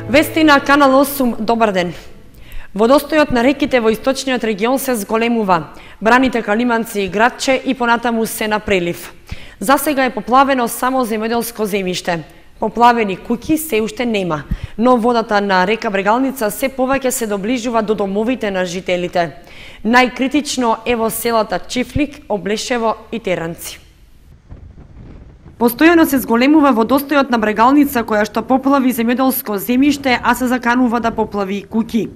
Вести на Канал 8, добар ден. Водостојот на реките во источниот регион се зголемува. Браните Калиманци и Градче и понатаму се на прелив. За сега е поплавено само земјоделско земјиште. Поплавени куќи се уште нема, но водата на река Брегалница се повеќе се доближува до домовите на жителите. Најкритично е во селата Чифлик, Облешево и Теранци. Постојано се зголемува водостојот на Брегалница која што поплави земјоделско земјиште, а се заканува да поплави и куќи.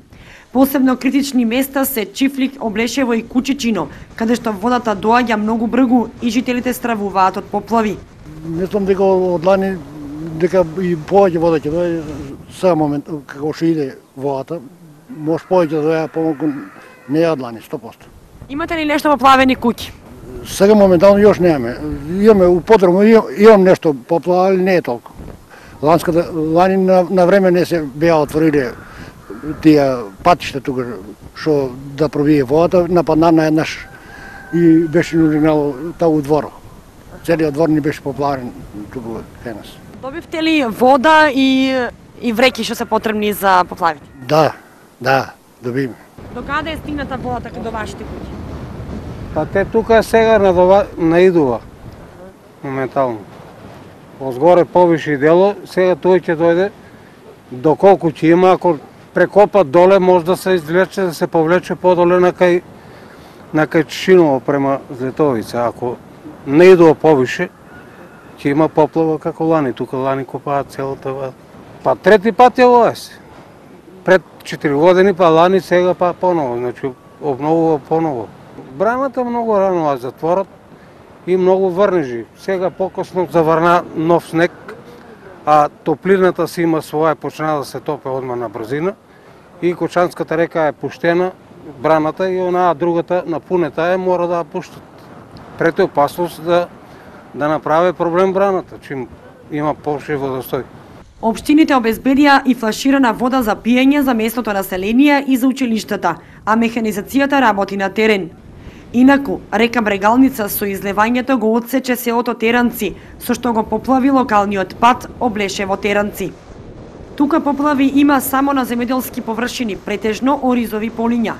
Посебно критични места се Чифлик, Облешево и Кучичино, каде што водата доаѓа многу бргу и жителите стравуваат од поплави. Мислам дека од лани дека и повеќе вода ќе дојде сега момент како што иде водата, може повеќе да дојде помалку не од лани 100%. Имате ли нешто поплавени куќи? Сега моментално још немаме. Имаме употребно, имам нешто поплава, не е толку. Лани на време не се беа отвориле тие патишта тука што да пробие водата, нападна еднаш и беше нуринало таа дворот. Целиот двор ни беше поплавен туку кај нас. Добивте ли вода и вреки што се потребни за поплавите? Да, добивме. До каде е стигната водата до вашите куќи? Па те тука сега наидува моментално. Озгоре повише дело, сега тој ќе дојде доколку ќе има, ако прекопа доле може да се извлече, да се повлече подоле на кај Чишиново према Злетовица. Ако не идува повише, ќе има поплава како лани. Тука лани копаат целата вода. Па трети пат е ова се. Пред 4 години, па лани, сега па поново. Значи, обновува поново. Браната многу рано ја затворат и многу врнежи. Сега покосно заврна нов снег, а топлината си има своја, почна да се топе одма на брзина и Кочанската река е пуштена, браната и онаа другата напунета мора да ја пуштат. Пред е опасност да направи проблем браната, чим има повше водостој. Општините обезбедија и флаширана вода за пиење за местното население и за училиштата, а механизацијата работи на терен. Инаку, река Брегалница со излевањето го отсече селото Теранци, со што го поплави локалниот пат Облешево Теранци. Тука поплави има само на земјоделски површини, претежно оризови полиња.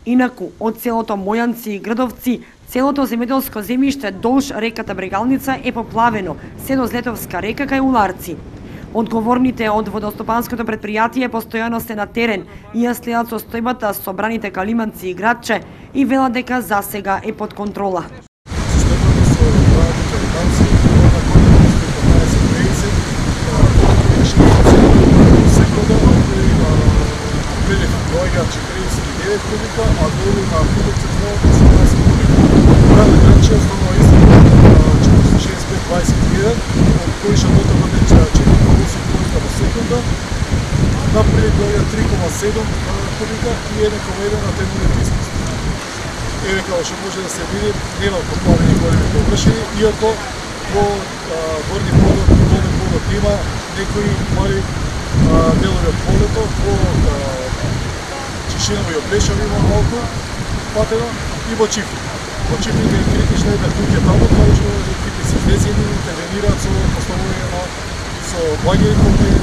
Инаку, од селото Мојанци и Грдовци, целото земјоделско земјиште долж реката Брегалница е поплавено, се до Злетовска река кај Уларци. Одговорните од водостопанското предпријатие постојано се на терен и ја следат состојбата со браните Калиманци и Градче и велат дека за сега е под контрола. Кубика, а долу на Кубица 18 кубика. Брана Градче основно исто 45-21, од кои шатота бъде 4,8 кубика во секунда. Напред дојде 3,7 кубика и 1,1 на темните искусти. Еве како што може да се види, нема поплавени големи површини, иако во горни подот, долни подот има некои мали делови од полето, во Чишиново и Облешево има малку патено и во Чифлик. Во Чифлик е критична една куќа таму, каде што екипи се излезени и интервенираат со поставување со багери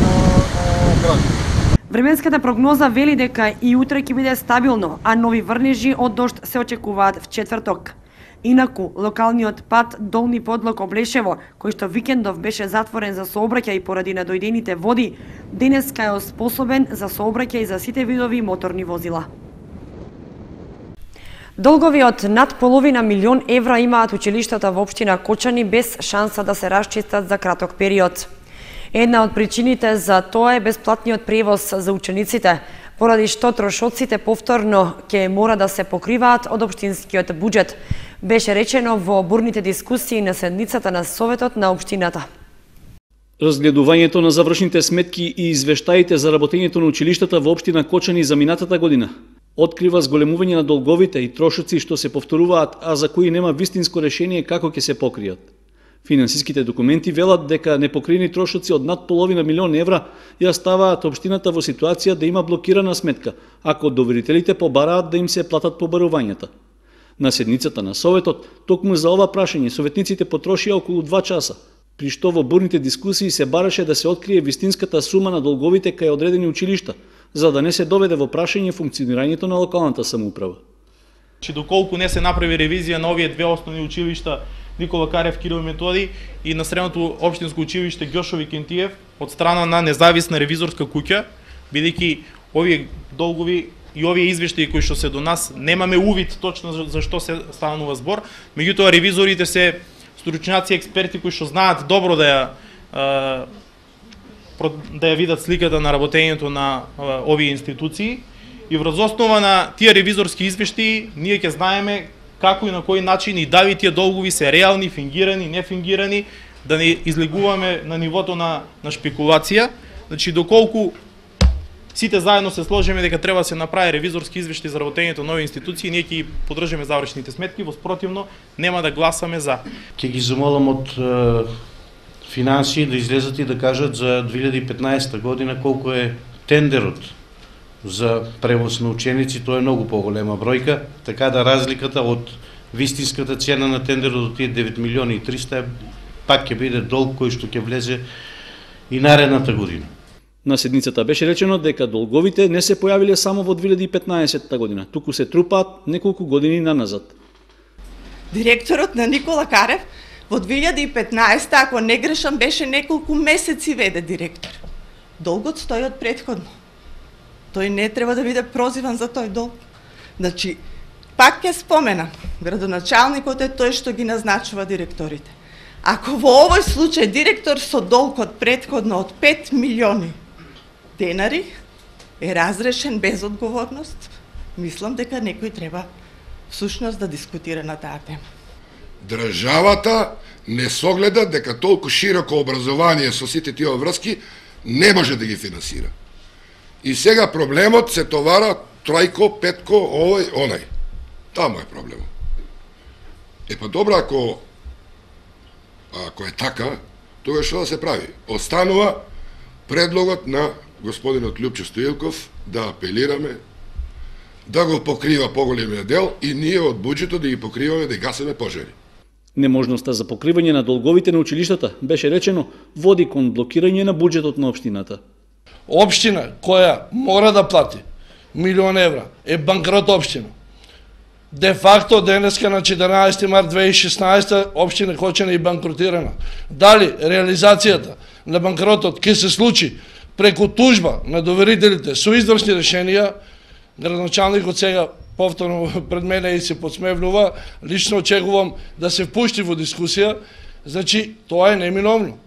на град. Временската прогноза вели дека и утре ќе биде стабилно, а нови врнежи од дожд се очекуваат в четврток. Инаку, локалниот пат Долни подлог Облешево, кој што викендов беше затворен за сообраќај поради надојдените води, денеска е способен за сообраќај за сите видови моторни возила. Долгови од над половина милион евра имаат училиштата во општина Кочани без шанса да се расчистат за краток период. Една од причините за тоа е бесплатниот превоз за учениците, поради што трошоците повторно ќе мора да се покриваат од општинскиот буџет, беше речено во бурните дискусии на седницата на Советот на општината. Разгледувањето на завршните сметки и извештаите за работењето на училиштата во општина Кочани за минатата година открива зголемување на долговите и трошоци што се повторуваат, а за кои нема вистинско решение како ќе се покријат. Финансиските документи велат дека непокриени трошоци од над половина милион евра ја ставаат општината во ситуација да има блокирана сметка, ако доверителите побараат да им се платат побарувањата. На седницата на Советот, токму за ова прашање, советниците потрошија околу 2 часа. при што во бурните дискусии се бараше да се открие вистинската сума на долговите кај одредени училишта, за да не се доведе во прашање функционирањето на локалната самоуправа. Доколку не се направи ревизија на овие две основни училишта Никола Карев, Кирил Методи и на средното општинско училиште Ѓошови Кентиев од страна на независна ревизорска куќа, бидејќи овие долгови и овие извештаи кои што се до нас немаме увид точно за што се станува збор, меѓутоа ревизорите се стручњаци, експерти кои што знаат добро да ја видат сликата на работењето на овие институции и врз основа на тие ревизорски извештаи ние ќе знаеме како и на кој начин и дали тие долгови се реални, фингирани, нефингирани, да не излегуваме на нивото на шпекулација. Значи, доколку сите заедно се сложиме дека треба да се направи ревизорски извештај за работењето на овие институции, ние ќе поддржаме завршните сметки, воспротивно нема да гласаме за. Ќе ги замолам од финансии да излезат и да кажат за 2015 година колку е тендерот за превоз на ученици. Тоа е многу поголема бројка, така да разликата од вистинската цена на тендерот до тие 9 милиони и 300 пак ќе биде долг кој што ќе влезе и наредната година. На седницата беше речено дека долговите не се појавиле само во 2015 година, туку се трупаат неколку години наназад. Директорот на Никола Карев во 2015, ако не грешам, беше неколку месеци веде директор. Долгот стои од претходно. Тој не треба да биде прозиван за тој долг. Значи, пак ќе споменам, градоначалникот е тој што ги назначува директорите. Ако во овој случај директор со долг од претходно од 5 милиони денари е разрешен без одговорност, мислам дека некој треба всушност да дискутира на таа тема. Државата не согледа дека толку широко образование со сите тие врски не може да ги финансира. И сега проблемот се товара тројко, петко, овој, онај. Таму е проблемот. Па добро, ако е така, тогаш што да се прави? Останува предлогот на господинот Лјупчо Стоилков да апелираме да го покрива поголемиот дел и ние од буџетот да ги покриваме, да гасиме пожари. Неможноста за покривање на долговите на училиштата, беше речено, води кон блокирање на буџетот на општината. Општина која мора да плати милион евра е банкрот општина. Де факто денеска на 14 март 2016 општина Кочани е банкротирана. Дали реализацијата на банкротот ќе се случи преку тужба на доверителите со извршни решенија, градоначалникот сега повторно пред мене и се подсмевнува, лично очекувам да се впушти во дискусија, значи тоа е неминовно.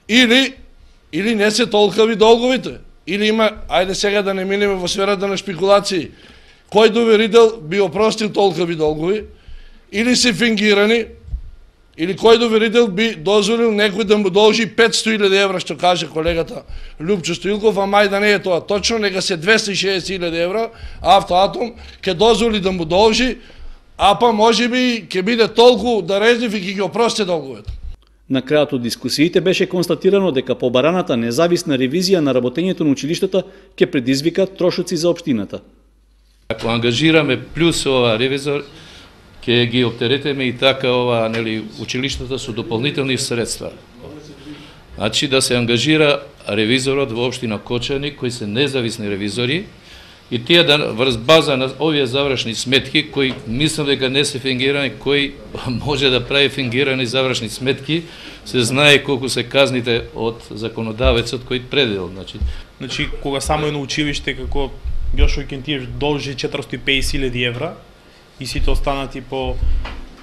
Или не се толкави долговите, или има, ајде сега да не минеме во сферата на шпекулации, кој доверител би опростил толкави долгови, или се фингирани, или кој доверител би дозволил некој да му должи 500.000 евра, што каже колегата Лјупчо Стоилков, а мај да не е тоа точно, нека се 260.000 евра, Автоатом ќе дозволи да му должи, а па може би ќе биде толку дарежлив и ќе ги опрости долговете. На крајот од дискусиите беше констатирано дека побараната независна ревизија на работењето на училиштата ќе предизвика трошоци за општината. Ако ангажираме плюс ова ревизор, ќе ги оптеретеме и така училиштата со дополнителни средства. Значи да се ангажира ревизорот во општина Кочани, кои се независни ревизори, и тие да врз база на овие завршни сметки, кои мислам дека не се фингирани, кој може да прави фингирани завршни сметки, се знае колку се казните од законодавецот кој предел. Значи, кога само едно училиште како Ѓошови Кентиев должи 450.000 евра и сите останати по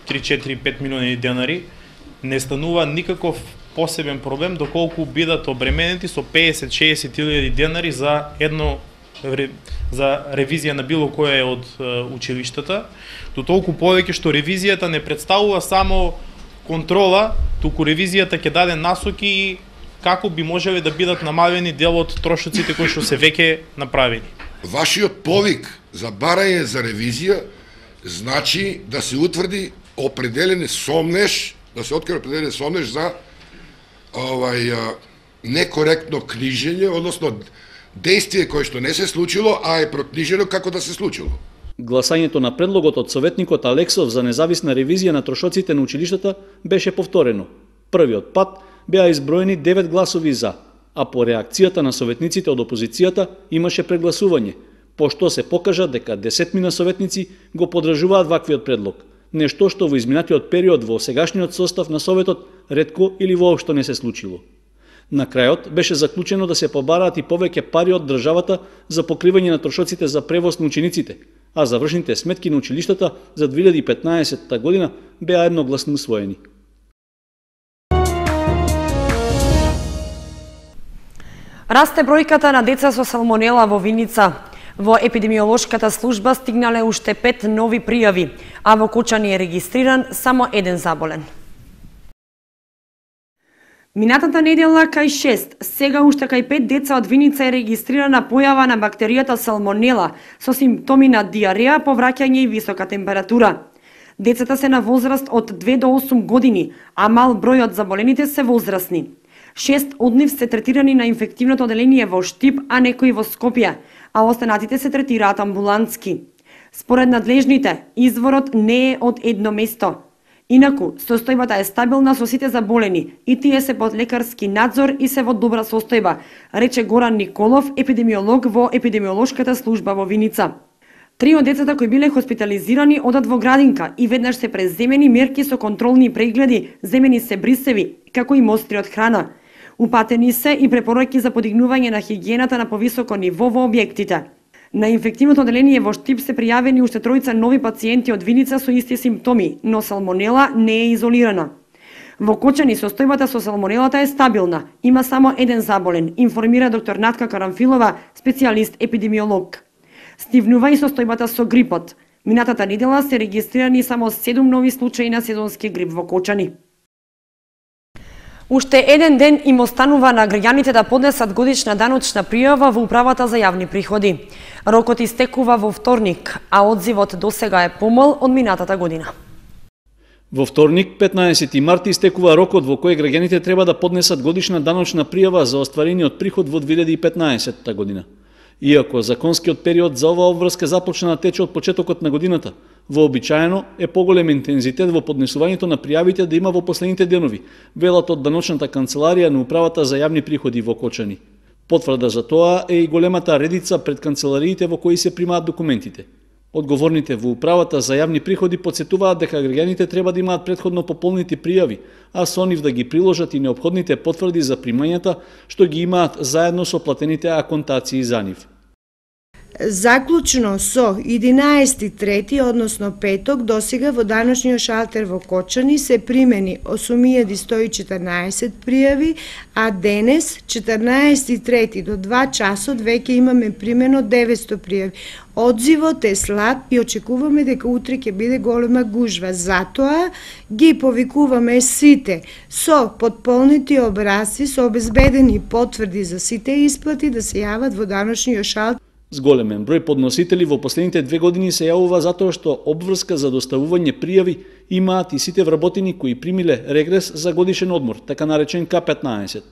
3-4-5 милиони денари, не станува никаков посебен проблем доколку бидат обременети со 50-60.000 денари за ревизија на било кое од училиштата, до толку повеќе што ревизијата не представува само контрола, туку ревизијата ќе даде насоки и како би можеле да бидат намалени дел од трошоците кои што се веќе направени. Вашиот повик за барање за ревизија значи да се утврди определен сомнеж, за некоректно книжење, односно дејствие кое што не се случило, а е прокнижено како да се случило. Гласањето на предлогот од советникот Алексов за независна ревизија на трошоците на училиштата беше повторено. првиот пат беа изброени 9 гласови за, а по реакцијата на советниците од опозицијата имаше прегласување, пошто се покажа дека 10 советници го поддржуваат ваквиот предлог, нешто што во изминатиот период во сегашниот состав на Советот ретко или воопшто не се случило. На крајот беше заклучено да се побараат и повеќе пари од државата за покривање на трошоците за превоз на учениците, а завршните сметки на училиштата за 2015 година беа едногласно усвоени. Расте бројката на деца со салмонела во Виница. Во епидемиолошката служба стигнале уште 5 нови пријави, а во Кочани е регистриран само еден заболен. Минатата недела кај 6, сега уште кај 5 деца од Виница е регистрирана појава на бактеријата салмонела со симптоми на диареја, повраќање и висока температура. Децата се на возраст од 2 до 8 години, а мал број од заболените се возрастни. 6 од нив се третирани на инфективното оделение во Штип, а некои во Скопје, а останатите се третираат амбулантски. Според надлежните, изворот не е од едно место. Инаку, состојбата е стабилна со сите заболени и тие се под лекарски надзор и се во добра состојба, рече Горан Николов, епидемиолог во епидемиолошката служба во Виница. 3 од децата кои биле хоспитализирани одат во градинка и веднаш се преземени мерки со контролни прегледи, земени се брисеви, како и мостри од храна. Упатени се и препораки за подигнување на хигиената на повисоко ниво во објектите. На инфективното оделение во Штип се пријавени уште 3 нови пациенти од Виница со исти симптоми, но салмонела не е изолирана. Во Кочани состојбата со салмонелата е стабилна, има само еден заболен, информира доктор Натка Карамфилова, специјалист епидемиолог. Стивнува и состојбата со грипот. Минатата недела се регистрирани само 7 нови случаи на сезонски грип во Кочани. Уште еден ден им останува на граѓаните да поднесат годишна даночна пријава во Управата за јавни приходи. Рокот истекува во вторник, а одзивот досега е помал од минатата година. Во вторник, 15 март, истекува рокот во кој граѓаните треба да поднесат годишна даночна пријава за остварениот приход во 2015 година. Иако законскиот период за оваа обврска започна да тече од почетокот на годината, вообичаено е поголем интензитет во поднесувањето на пријавите да има во последните денови, велат од даночната канцеларија на Управата за јавни приходи во Кочани. Потврда за тоа е и големата редица пред канцелариите во кои се примаат документите. Одговорните во Управата за јавни приходи потсетуваат дека граѓаните треба да имаат претходно пополнити пријави, а со нив да ги приложат и неопходните потврди за примањата што ги имаат заедно со платените аконтации за нив. Заклучно со 11.3, односно петок, досега во даношниот шалтер во Кочани се примени 8114 пријави, а денес, 14.3 до 2 часот, веќе имаме примено 900 пријави. Одзивот е слаб и очекуваме дека утре ќе биде голема гужва. Затоа ги повикуваме сите со потполнити образци, со обезбедени потврди за сите исплати да се јават во даношниот шалтер. Зголемен број подносители во последните 2 години се јавува затоа што обврска за доставување пријави имаат и сите вработени кои примиле регрес за годишен одмор, така наречен К15.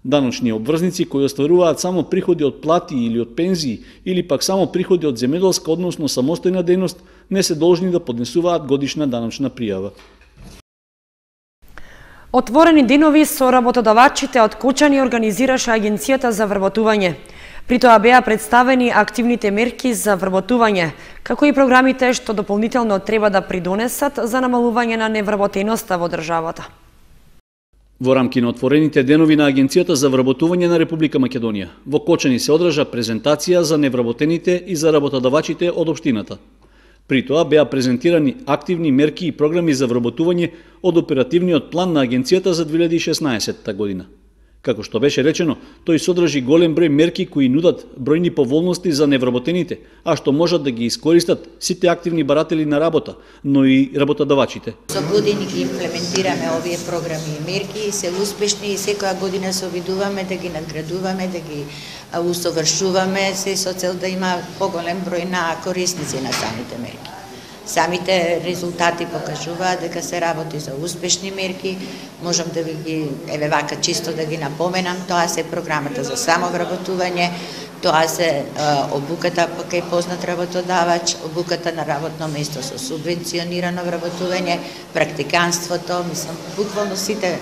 Даночни обврзници кои остваруваат само приходи од плати или од пензии или пак само приходи од земјоделска, односно самостојна дејност, не се должни да поднесуваат годишна даночна пријава. Отворени денови со работодавачите од Кочани организираше Агенцијата за вработување. При тоа беа представени активните мерки за вработување, како и програмите што дополнително треба да придонесат за намалување на невработеноста во државата. Во рамки на отворените денови на Агенцијата за вработување на Република Македонија, во Кочани се одржа презентација за невработените и за работодавачите од општината. При тоа беа презентирани активни мерки и програми за вработување од оперативниот план на Агенцијата за 2016 година. Како што беше речено, тој содржи голем број мерки кои нудат бројни поволности за невработените, а што можат да ги искористат сите активни баратели на работа, но и работодавачите. Со години ги имплементираме овие програми и мерки и се успешни и секоја година се обидуваме да ги надградуваме, да ги усовршуваме, се со цел да има поголем број на корисници на самите мерки. Самите резултати покажуваат дека се работи за успешни мерки. Можам да ви ги, еве вака чисто да ги напоменам, тоа се програмата за самовработување, тоа се обуката кај познат работодавач, обуката на работно место со субвенционирано вработување, практиканството, мислам, буквално сите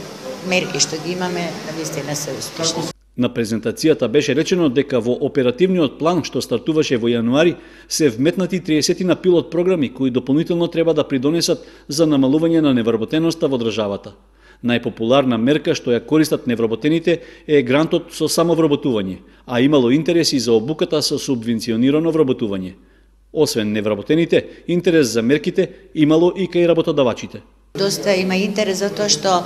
мерки што ги имаме, навистина се успешни. На презентацијата беше речено дека во оперативниот план што стартуваше во јануари се вметнати 30 на пилот програми кои дополнително треба да придонесат за намалување на невработеноста во државата. Најпопуларна мерка што ја користат невработените е грантот со самовработување, а имало интереси за обуката со субвенционирано вработување. Освен невработените, интерес за мерките имало и кај работодавачите. Доста има интерес за тоа што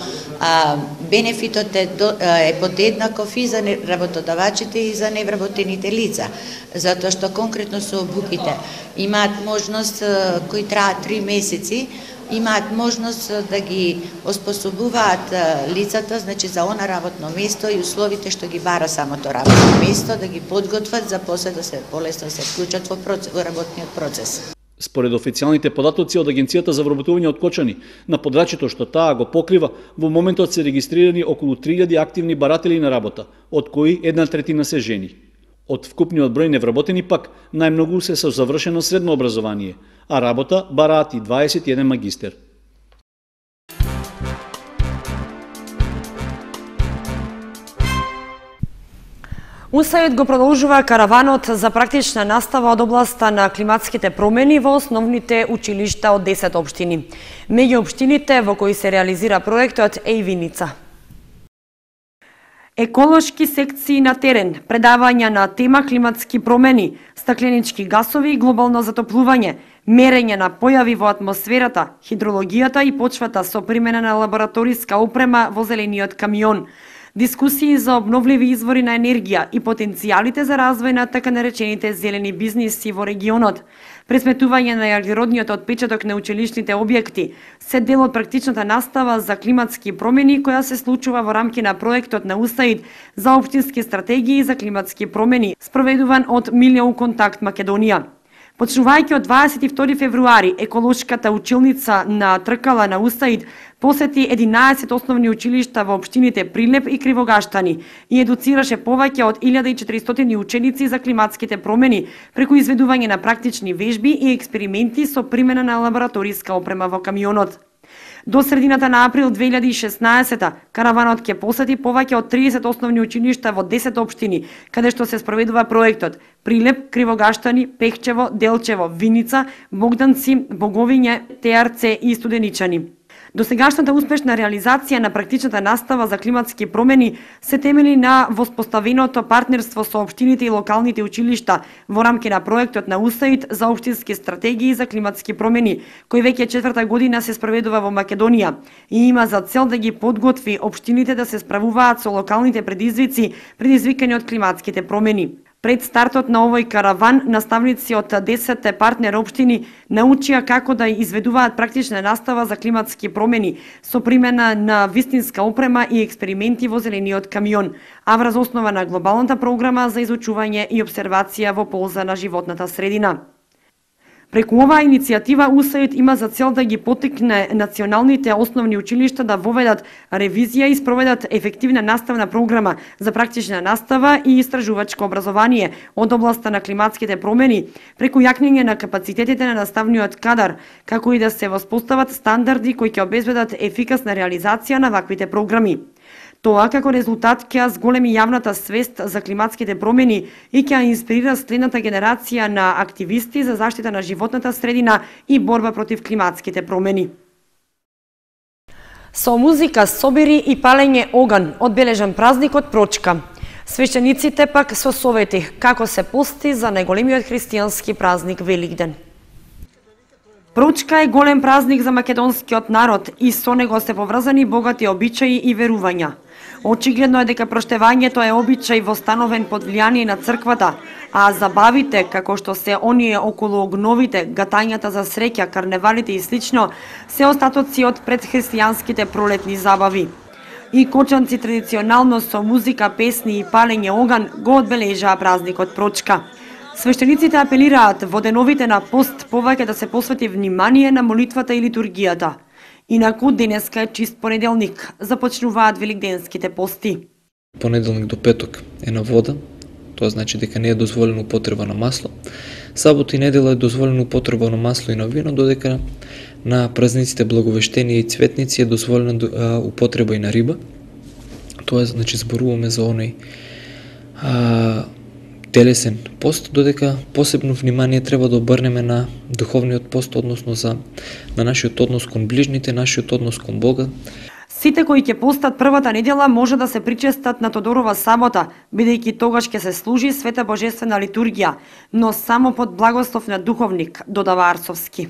бенефитот е подеднаков и за работодавачите и за невработените лица, затоа што конкретно со обуките имаат можност кои траат 3 месеци, имаат можност да ги оспособуваат лицата, значи за она работно место и условите што ги бара самото работно место, да ги подготват за после да се полесно се вклучат во работниот процес. Според официјалните податоци од Агенцијата за вработување од Кочани, на подрачјето што таа го покрива, во моментот се регистрирани околу 3000 активни баратели на работа, од кои 1/3 се жени. Од вкупниот број невработени пак, најмногу се со завршено средно образование, а работа бараат и 21 магистер. УСАИД го продолжува караванот за практична настава од областа на климатските промени во основните училишта од 10 општини. Меѓу општините во кои се реализира проектот е и Виница. Еколошки секции на терен, предавања на тема климатски промени, стакленички гасови и глобално затоплување, мерење на појави во атмосферата, хидрологијата и почвата со примена на лабораториска опрема во зелениот камион, дискусии за обновливи извори на енергија и потенцијалите за развој на така наречените зелени бизниси во регионот, пресметување на јаглеродниот отпечаток на училишните објекти, се дел од практичната настава за климатски промени која се случува во рамки на проектот на УСАИД за општински стратегии за климатски промени, спроведуван од Милион Контакт Македонија. Почнувајќи од 22 февруари, еколошката училница на Тркала на УСАИД посети 11 основни училишта во општините Прилеп и Кривогаштани и едуцираше повеќе од 1400 ученици за климатските промени преку изведување на практични вежби и експерименти со примена на лабораториска опрема во камионот. До средината на април 2016 караванот ќе посети повеќе од 30 основни училишта во 10 општини, каде што се спроведува проектот Прилеп, Кривогаштани, Пехчево, Делчево, Виница, Богданци, Боговиње, Теарце и Студеничани. Досегашната успешна реализација на практичната настава за климатски промени се темели на воспоставеното партнерство со општините и локалните училишта во рамки на проектот на УСАИД за општински стратегии за климатски промени, кој веќе 4-та година се спроведува во Македонија и има за цел да ги подготви општините да се справуваат со локалните предизвици предизвикани од климатските промени. Пред стартот на овој караван, наставници од 10 партнер општини научија како да изведуваат практична настава за климатски промени со примена на вистинска опрема и експерименти во зелениот камион, а врз основа на глобалната програма за изучување и обсервација во полза на животната средина. Преку оваа иницијатива УСАИД има за цел да ги поттикне националните основни училишта да воведат ревизија и спроведат ефективна наставна програма за практична настава и истражувачко образование од областа на климатските промени, преку јакнење на капацитетите на наставниот кадар, како и да се воспостават стандарди кои ќе обезбедат ефикасна реализација на ваквите програми. Тоа како резултат ќе зголеми јавната свест за климатските промени и ќе инспирира следната генерација на активисти за заштита на животната средина и борба против климатските промени. Со музика, собири и палење оган одбележан празникот Прочка. Свештениците пак со совети како се пости за најголемиот христијански празник Великден. Прочка е голем празник за македонскиот народ и со него се поврзани богати обичаи и верувања. Очигледно е дека проштевањето е обичај востановен под влијание на црквата, а забавите, како што се оние околу огновите, гатањата за среќа, карневалите и слично, се остатоци од предхристијанските пролетни забави. И кочанци традиционално со музика, песни и палење оган го одбележаа празникот Прочка. Свештениците апелираат во деновите на пост повеќе да се посвети внимание на молитвата и литургијата. Инаку денеска е чист понеделник, започнуваат великденските пости. Понеделник до петок е на вода, тоа значи дека не е дозволено употреба на масло. Сабота и недела е дозволено употреба на масло и на вино, додека на празниците Благовештение и Цветници е дозволена употреба и на риба. Тоа значи зборуваме за оној телесен пост, додека посебно внимание треба да обрнеме на духовниот пост, односно на нашиот однос кон ближните, нашиот однос кон Бога. Сите кои ќе постат првата недела може да се причестат на Тодорова сабота, бидејќи тогаш ќе се служи света божествена литургија, но само под благослов на духовник, додава Арцовски.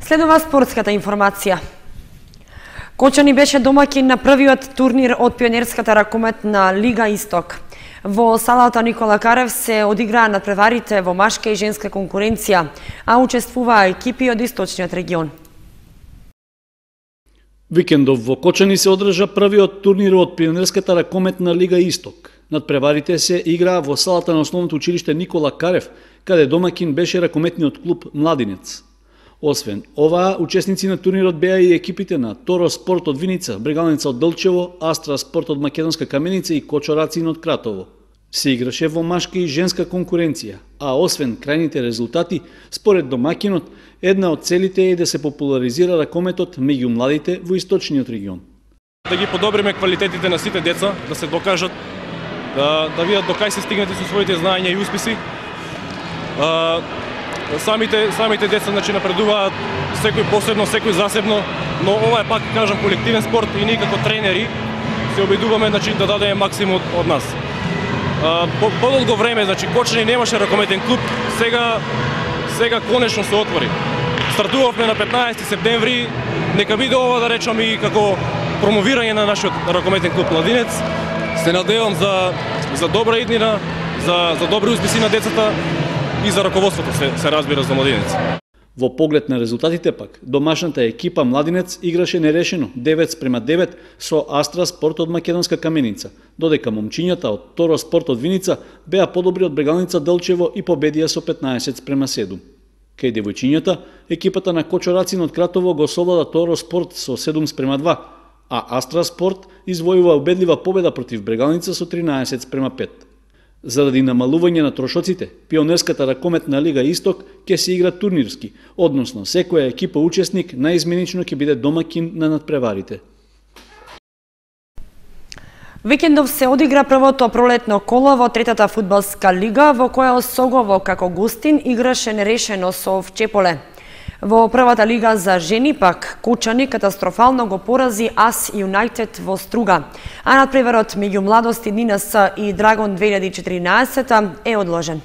Следува спортската информација. Кочани беше домаќин на првиот турнир од пионерската ракометна Лига Исток. Во салата Никола Карев се одиграа надпреварите во машка и женска конкуренција, а учествуваа екипи од источниот регион. Викендов во Кочани се одржа првиот турнир од пионерската ракометна Лига Исток. Надпреварите се играа во салата на основното училиште Никола Карев, каде домаќин беше ракометниот клуб Младинец. Освен оваа, учесници на турнирот беа и екипите на Торо Спорт од Виница, Брегалница од Делчево, Астра Спорт од Македонска Каменица и Кочорацин од Кратово. Се играше во машка и женска конкуренција, а освен крајните резултати, според домаќинот, една од целите е да се популаризира ракометот меѓу младите во источниот регион. Да ги подобриме квалитетите на сите деца, да се докажат, да видат до кај се стигнати со своите знаења и успеси. Самите деца напредуваат, секој посебно, секој засебно, но ова е, пак кажам, колективен спорт и ние како тренери се обидуваме да дадеме максимум од нас. Подолго време, Кочани немаше ракометен клуб, сега конечно се отвори. Стартувавме на 15 септември, нека биде ова, да речам, и како промовирање на нашиот ракометен клуб Младинец. Се надевам за добра иднина, за добри успеси на децата и за раководството се разбира за Младинец. Во поглед на резултатите пак, домашната екипа Младинец играше нерешено 9:9 со Астра Спорт од Македонска Каменица, додека момчињата од Торо Спорт од Виница беа подобри од Брегалница Делчево и победија со 15:7. Кај девојчињата, екипата на Кочорацин од Кратово го совлада Торо Спорт со 7:2, а Астра Спорт извојува убедлива победа против Брегалница со 13:5. Заради намалување на трошоците, пионерската ракометна Лига Исток ќе се игра турнирски, односно секоја екипа учесник наизменично ќе биде домаќин на надпреварите. Викендов се одигра првото пролетно коло во третата фудбалска лига, во која Осогово како гостин играше нерешено со Овчеполе. Во првата лига за жени пак, Кочани катастрофално го порази АС Юнајтед во Струга, а надпреварот меѓу Младости НИНС и Драгон 2014 е одложен.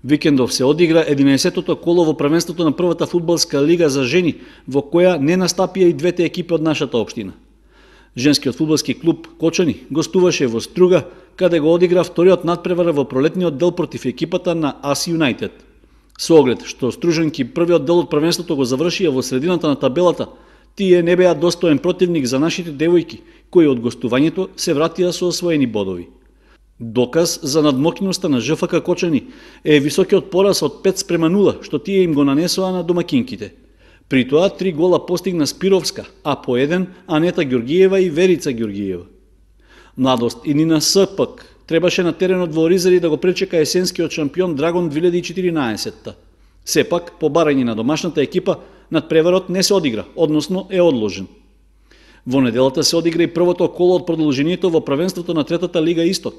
Викендов се одигра 11-тото коло во првенството на првата фудбалска лига за жени, во која не настапија и двете екипи од нашата општина. Женскиот фудбалски клуб Кочани гостуваше во Струга, каде го одигра вториот надпревар во пролетниот дел против екипата на АС Юнајтед. Со оглед што стружанки првиот дел од првенството го завршија во средината на табелата, тие не беа достоен противник за нашите девојки, кои од гостувањето се вратија со освоени бодови. Доказ за надмокиноста на ЖФК Кочани е високиот пораз од 5:0, што тие им го нанесоа на домакинките. При тоа 3 гола постигна Спировска, а по 1 Анета Ѓоргиева и Верица Ѓоргиева. Младост и НИНС пак требаше на теренот во Оризари да го пречека есенскиот шампион Драгон 2014. Сепак, по барање на домашната екипа, надпреварот не се одигра, односно е одложен. Во неделата се одигра и првото коло од продолжението во првенството на третата Лига Исток.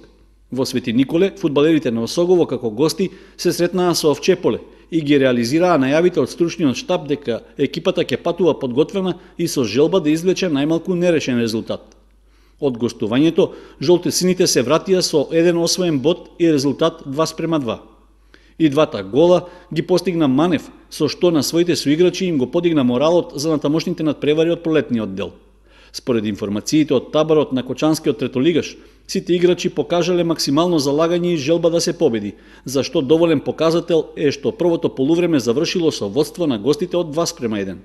Во Свети Николе, фудбалерите на Осогово како гости се сретнаа со Овчеполе и ги реализираа најавите од стручниот штаб дека екипата ќе патува подготвена и со желба да извлече најмалку нерешен резултат. Од гостувањето, жолтесините се вратија со еден освоен бод и резултат 2:2. И двата гола ги постигна Манев, со што на своите соиграчи им го подигна моралот за натамошните надпревари од пролетниот дел. Според информациите од таборот на Кочанскиот третолигаш, сите играчи покажале максимално залагање и желба да се победи, за што доволен показател е што првото полувреме завршило со водство на гостите од 2:1.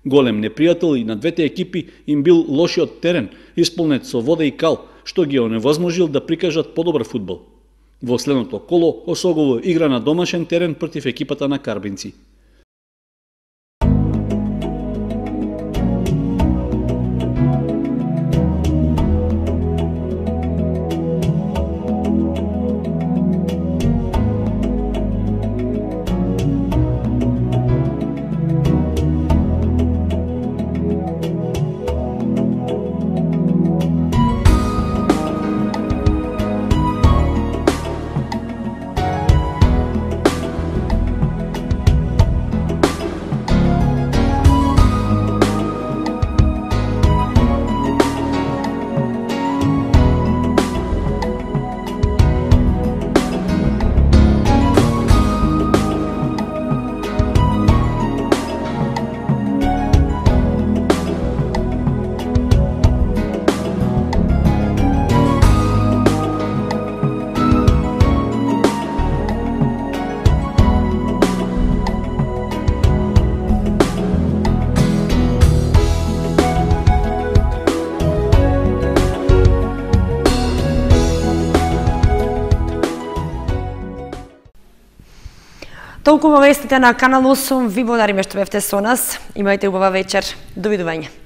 Голем непријател и на двете екипи им бил лошиот терен, исполнет со вода и кал, што ги оневозможил да прикажат подобар фудбал. Во следното коло Осогово игра на домашен терен против екипата на Карбинци. Толку вестите на Канал 8, ви благодариме што бевте со нас. Имајте убава вечер. Довидување.